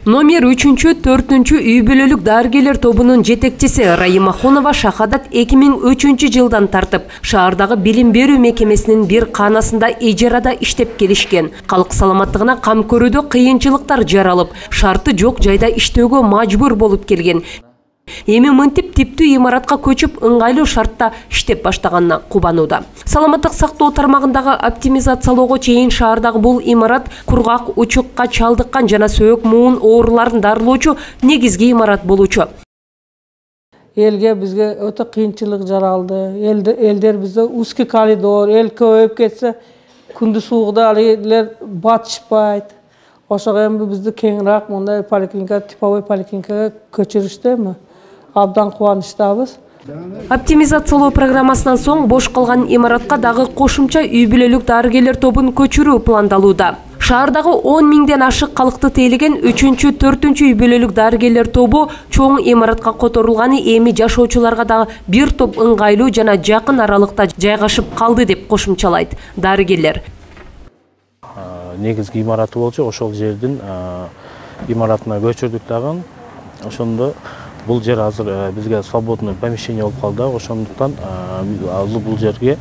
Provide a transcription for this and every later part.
Номер 3-4 үй бүлөлүк дарыгерлер тобунун жетекчиси Райыма Хонова Шахадат 2003 жылдан тартып шаардагы билим берүү мекемесинин бир канасында ижарада иштеп келишкен. Калк саламаттыгына кам көрүүдө кыйынчылыктар жаралып, шарты жок жайда иштөөгө мажбур болуп келген. Эми мынтип типтүү имаратка көчүп ыңгайлуу шартта иштеп баштаганына кубанууда. Саламаттык сактоо тармагындагы оптимизациялоого чейин шаардагы бул имарат кургак, учукка чалдыккан жана сөөк муун ооруларын дарылоочу негизги имарат болчу. Элге бизге өтө кыйынчылык жаралды. Элдер бизде узкий коридор, эл көбөйүп кетсе, күндүз угда элер батышпайт. Ошого эми бизди кеңирээк мындай поликлиника, типовой поликлиникага көчүрүштү. Абдан кубанычтабыз. Оптимизациялоо программасынан соң бош калган имаратка дагы кошумча үй бүлөлүк дарыгерлер тобун көчүрүү пландалууда. Шаардагы 10 миңден ашык калкты тейлеген 3-4 үй бүлөлүк дарыгерлер тобу чоң имаратка которулганы эми жашоочуларга дагы бир топ ыңгайлуу жана жакын аралыкта жайгашып калды деп кошумчалайт дарыгерлер. Негизги имараты болчу, ошол жердин имаратына көчүрдүк дагы. Ошондо бул жер азыр бизге свободный помещение болуп калды. Ошондуктан бул жерге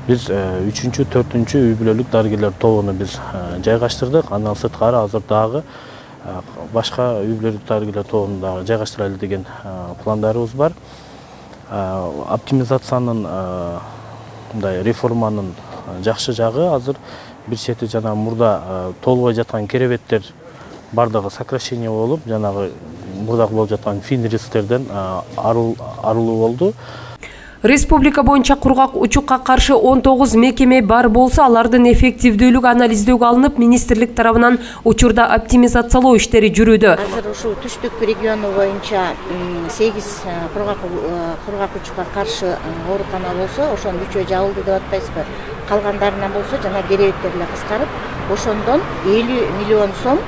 биз 3-4 үй бүлөлүк дарыгерлер тобуну биз жайгаштырдык. Андан сырткары азыр дагы башка үй бүлөлүк дарыгерлер тобун дагы жайгаштыралы деген пландарыбыз бар. Оптимизациянын мындай реформанын жакшы жагы азыр бир чети жана мурда толбой жаткан керебеттер бардыгы сокращение болуп, жанагы мурдагы болуп жаткан финристерден арылуу болду. Республика боюнча кургак учукка каршы 19 мекеме бар болсо, алардын эффективдүүлүгү анализдөөгө алынып, министрлик тарабынан учурда оптимизациялоо иштери жүрүүдө. Азыр ушул түштүк региону боюнча 8 кургак учукка каршы оорукана болсо, ошонун 3-өө жабылды деп атпайсызбы? Калгандарынан болсо жана керебеттер эле кыскарып, ошондон 50 миллион сом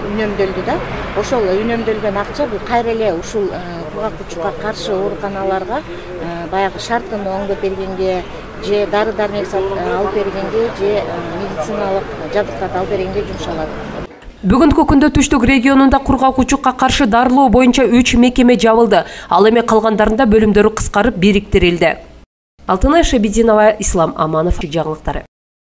үнөмдөлдү да. Ошол үнөмдөлгөн акча бул кайра эле ушул кургак учукка каршы ооруканаларга баягы шартын оңдоп бергенге, же дары-дармек алып бергенге, же медициналык жабдыктарды алып бергенге жумшалат. Бүгүнкү күндө Түштүк регионунда кургак учукка каршы дарылоо боюнча 3 мекеме жабылды. Ал эми калгандарында бөлүмдөрү кыскарып бириктирилди. Алтынай Шабидинова, Ислам Аманов, жаңылыктары.